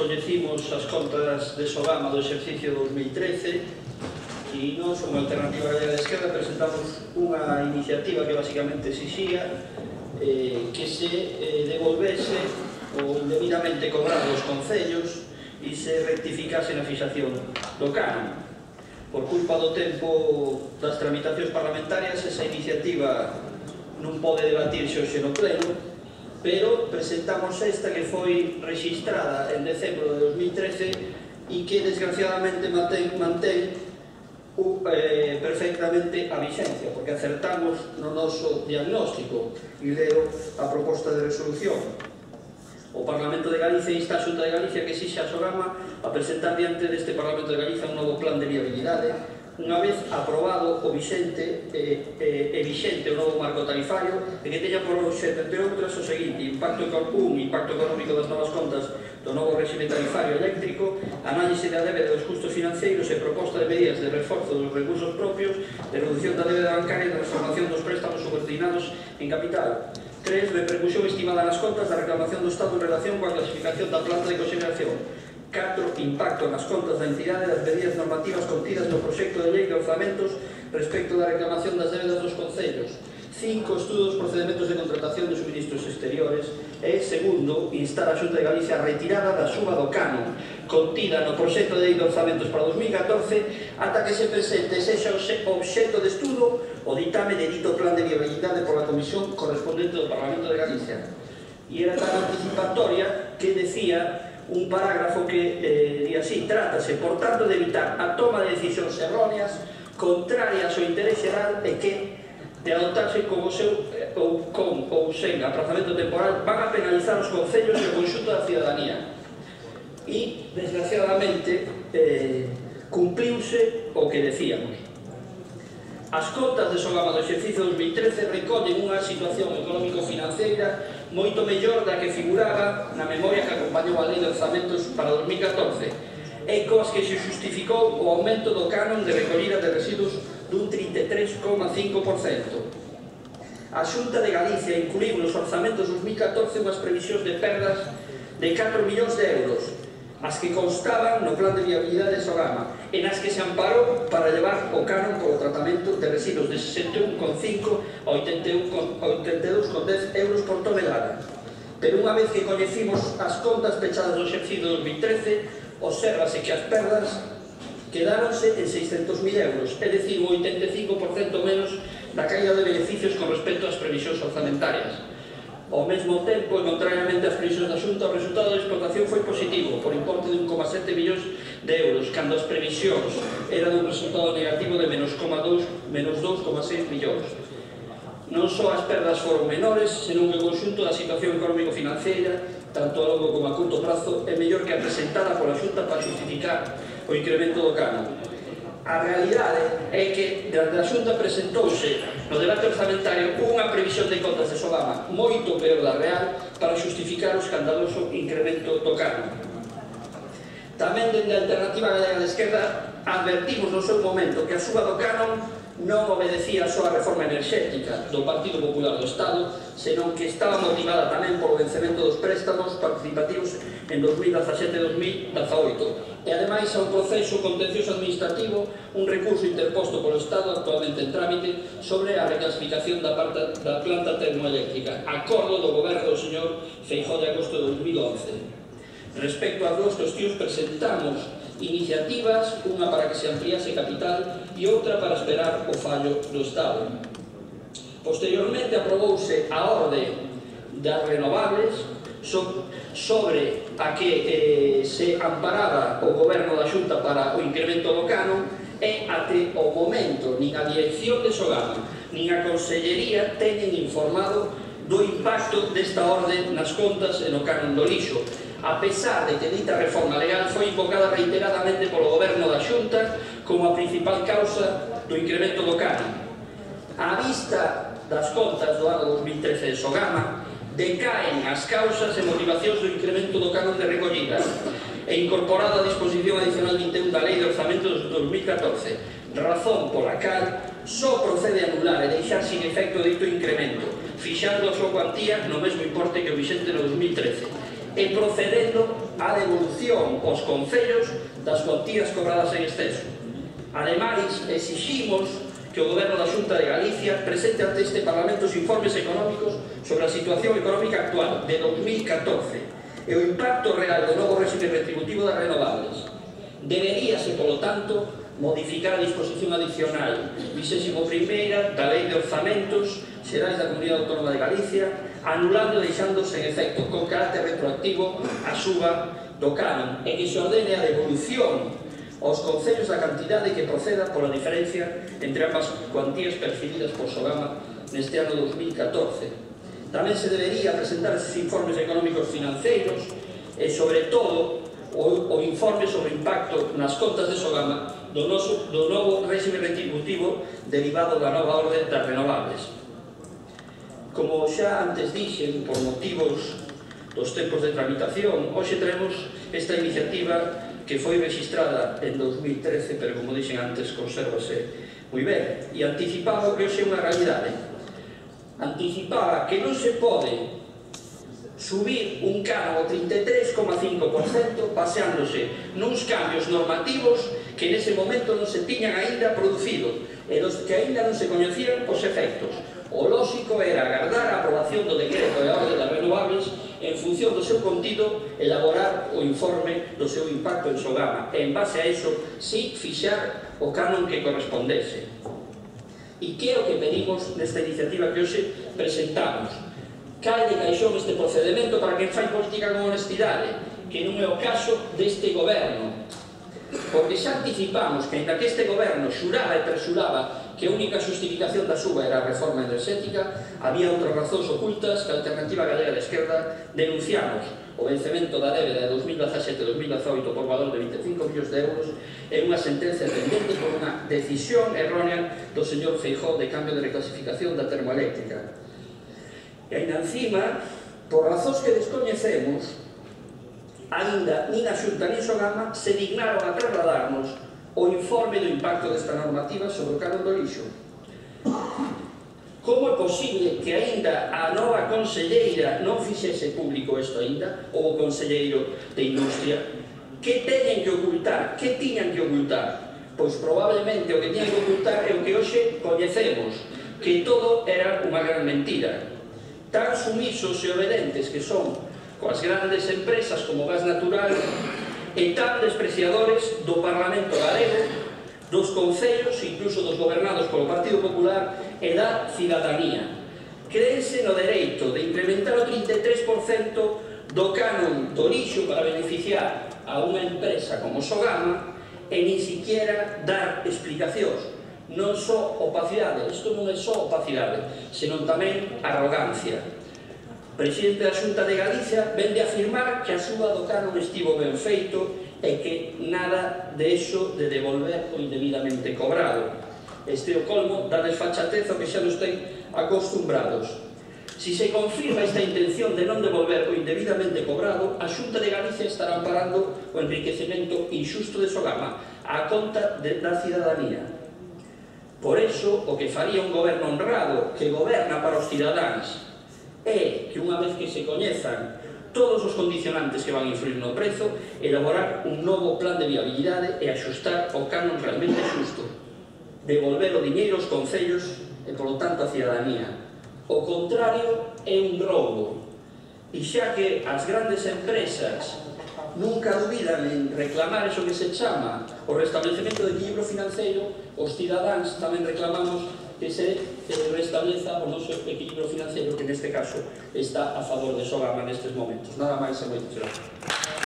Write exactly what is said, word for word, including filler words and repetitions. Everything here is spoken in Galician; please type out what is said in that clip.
coñecimos as contas de Sogama do exercicio dos mil trece e nós, como Alternativa Galega de Esquerda, presentamos unha iniciativa que basicamente exixía eh, que se eh, devolvese o indebidamente cobrado dos concellos e se rectificase na fixación do canon. Por culpa do tempo das tramitacións parlamentarias, esa iniciativa non pode debatirse hoxe no pleno, pero presentamos esta que foi registrada en decembro de dos mil trece e que desgraciadamente mantén, mantén uh, eh, perfectamente a vixencia, porque acertamos no noso diagnóstico. E leo a proposta de resolución. O Parlamento de Galicia insta a Xunta de Galicia que exixe a Sogama a presentar diante deste Parlamento de Galicia un novo plan de viabilidade unha vez aprobado o vixente e eh, eh, vixente o novo marco tarifario e que teña por obxecto, entre outras, o seguinte: impacto un, impacto económico das novas contas do novo réxime tarifario eléctrico, análise da débeda dos custos financeiros e proposta de medidas de reforzo dos recursos propios, de reducción da débeda bancaria e de transformación dos préstamos subordinados en capital. tres. Repercusión estimada nas contas da reclamación do Estado en relación coa clasificación da planta de coxeneración. catro. Impacto nas contas da entidade das medidas normativas contidas no proxecto de lei de orzamentos respecto da reclamación das débedas dos concellos. cinco. Estudo dos procedementos de contratación de suministros exteriores. E, segundo, instar a Xunta de Galicia a retirada da suba do canon contida no proxecto de lei de orzamentos para dos mil catorce ata que se presente sexa obxecto de estudo o ditame de dito plan de viabilidade pola Comisión correspondente do Parlamento de Galicia. E era tan anticipatoria que decía un parágrafo que eh, di así: trátase, por tanto, de evitar a toma de decisións erróneas contrarias ao interés xeral e que, de adoptarse como seu eh, ou con ou sen aprazamento temporal, van a penalizar os concellos e o conxunto da ciudadanía. E, desgraciadamente, eh, cumpliuse o que decíamos. As contas de Sogama do exercicio dos mil trece recollen unha situación económico-financeira moito mellor da que figuraba na memoria que acompañou a lei de orzamentos para dos mil catorce e coas que se justificou o aumento do canon de recollida de residuos dun trinta e tres coma cinco por cento. A Xunta de Galicia incluiu nos orzamentos dos mil catorce unhas previsións de perdas de catro millóns de euros, as que constaban no plan de viabilidade de Sogama, e nas que se amparou para levar o canon polo tratamento de residuos de sesenta e un coma cinco a oitenta e dous coma dez euros por tonelada. Pero unha vez que coñecimos as contas pechadas do exercicio dos mil trece, obsérvase que as perdas quedáronse en seiscentos mil euros, é dicir, un oitenta e cinco por cento menos da caída de beneficios con respecto ás previsións orzamentarias. Ao mesmo tempo, e contrariamente ás previsións da Xunta, o resultado da explotación foi positivo, por importe de un coma sete millóns de euros, cando as previsións eran un resultado negativo de menos dous coma seis millóns. Non só as perdas foron menores, senón que o conxunto da situación económico-financeira, tanto a longo como a curto prazo, é mellor que a presentada pola Xunta para justificar o incremento do canon. A realidade é que, desde a Xunta, presentouse no debate orzamentario unha previsión de contas de Sogama moito peor da real para justificar o escandaloso incremento do canon. Tamén, dende a Alternativa Galega de Esquerda, advertimos no seu momento que a suba do canon non obedecía só a reforma enerxética do Partido Popular do Estado, senón que estaba motivada tamén polo vencemento dos préstamos participativos en dos mil dezasete e dos mil dezaoito, e ademais a un proceso contencioso administrativo, un recurso interposto polo Estado actualmente en trámite sobre a reclasificación da, parte, da planta termoeléctrica, acordo do goberno do señor Feijóo de agosto de dos mil once. Respecto ás dúas cuestións, presentamos iniciativas, unha para que se ampliase capital e outra para esperar o fallo do Estado. Posteriormente aprobouse a orde das renovables so, sobre a que eh, se amparaba o goberno da Xunta para o incremento do canon, e até o momento nin a dirección de Sogama nin a Consellería teñen informado do impacto desta orde nas contas e no canon do lixo, a pesar de que dita reforma legal foi invocada reiteradamente polo goberno da Xunta como a principal causa do incremento do canon. A vista das contas do ano dos mil trece de Sogama, decaen as causas e motivacións do incremento do canon de recollida e incorporado a disposición adicional vinte e un da Lei de Orzamentos de dos mil catorce, razón pola cal só procede a anular e deixar sin efecto dito incremento, fixando a súa cuantía no mesmo importe que o vixente no dos mil trece, e procedendo a devolución aos concellos das cuantías cobradas en exceso. Ademais, exiximos que o Goberno da Xunta de Galicia presente ante este Parlamento os informes económicos sobre a situación económica actual de dos mil catorce e o impacto real do novo réxime retributivo das renovables. Deberíase, polo tanto, modificar a disposición adicional vigésima primeira da Lei de Orzamentos Xerais da Comunidade Autónoma de Galicia, anulando e deixándose en efecto con carácter retroactivo a suba do canon e que se ordene a devolución aos concellos da cantidade que proceda pola diferencia entre ambas cuantías percibidas por Sogama neste ano dos mil catorce. Tamén se debería presentar esses informes económicos financeiros e, sobre todo, o, o informe sobre o impacto nas contas de Sogama do, noso, do novo réxime retributivo derivado da nova orde das renovables. Como xa antes dixen, por motivos dos tempos de tramitación, hoxe traemos esta iniciativa que foi registrada en dos mil trece, pero como dixen antes, consérvase moi ben, e anticipaba que hoxe é unha realidade. Anticipaba que non se pode subir un canon ao trinta e tres coma cinco por cento baseándose nuns cambios normativos que nese momento non se tiñan aínda producido e dos que aínda non se coñecían os efectos. O lóxico era agardar a aprobación do decreto e a orde das renovables en función do seu contido, elaborar o informe do seu impacto en Sogama e en base a eso, si fixar o canon que correspondese. E que é o que pedimos nesta iniciativa que hoxe presentamos? Cae de caixón este procedimento para quen fai política con honestidade, que non é o caso deste goberno, porque xa anticipamos que, ainda que este goberno xuraba e presuraba que a única justificación da suba era a reforma enerxética, había outras razóns ocultas que a Alternativa Galega de Esquerda denunciamos o vencemento da débeda de dos mil dezasete a dos mil dezoito por valor de vinte e cinco millóns de euros e unha sentencia pendente por unha decisión errónea do señor Feijóo de cambio de reclasificación da termoeléctrica. E ainda encima, por razóns que descoñecemos, ainda nin a Xunta nin Sogama se dignaron a trasladarnos o informe do impacto desta normativa sobre o canon do lixo. Como é posible que aínda a nova conselleira non fixese público isto aínda, ou o conselleiro de Industria? Que teñen que ocultar? Que tiñan que ocultar? Pois probablemente o que tiñan que ocultar é o que hoxe coñecemos, que todo era unha gran mentira. Tan sumisos e obedentes que son coas grandes empresas como Gas Natural e tan despreciadores do Parlamento galego, dos concellos, incluso dos gobernados polo Partido Popular e da cidadanía. Créense no dereito de incrementar o trinta e tres por cento do canon do lixo para beneficiar a unha empresa como Sogama e nin siquiera dar explicacións. Non só opacidade, isto non é só opacidade, senón tamén arrogancia. O presidente da Xunta de Galicia vende a afirmar que a suba do canon estivo ben feito e que nada de eso de devolver o indebidamente cobrado. Este é o colmo da desfachatez ao que xa nos ten acostumbrados. Si se confirma esta intención de non devolver o indebidamente cobrado, a Xunta de Galicia estará amparando o enriquecemento injusto de Sogama á conta da cidadanía. Por eso, o que faría un goberno honrado que goberna para os cidadáns é que, unha vez que se coñezan todos os condicionantes que van a influir no prezo, elaborar un novo plan de viabilidade e axustar o canon realmente xusto. Devolver o diñeiro aos concellos e, polo tanto, a cidadanía. O contrario é un roubo. E xa que as grandes empresas nunca dubidan en reclamar eso que se chama o restablecemento do equilibrio financeiro, os cidadáns tamén reclamamos que se restableza o noso equilibrio financeiro, que neste caso está a favor de Sogama nestes momentos. Nada máis e moitas gracias.